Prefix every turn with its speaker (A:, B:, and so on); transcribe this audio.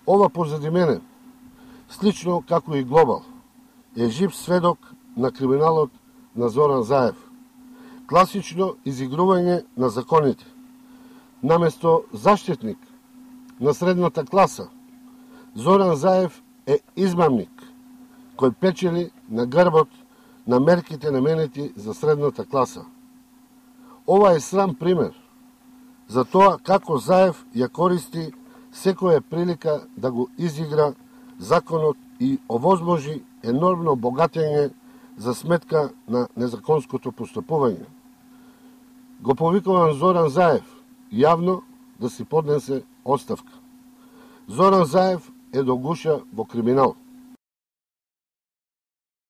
A: Ова позади мене, слично како и Глобал, е жив сведок на криминалот на Зоран Заев. Класично изигрување на законите. Наместо заштитник на средната класа, Зоран Заев е измамник кој печели на грбот на мерките наменети за средната класа. Ова е срам пример за тоа како Заев ја користи секоја прилика да го изигра законот и овозможи енормно богатење за сметка на незаконското постапување. Го повикувам Зоран Заев јавно да си поднесе оставка. Зоран Заев е до гуша во криминал.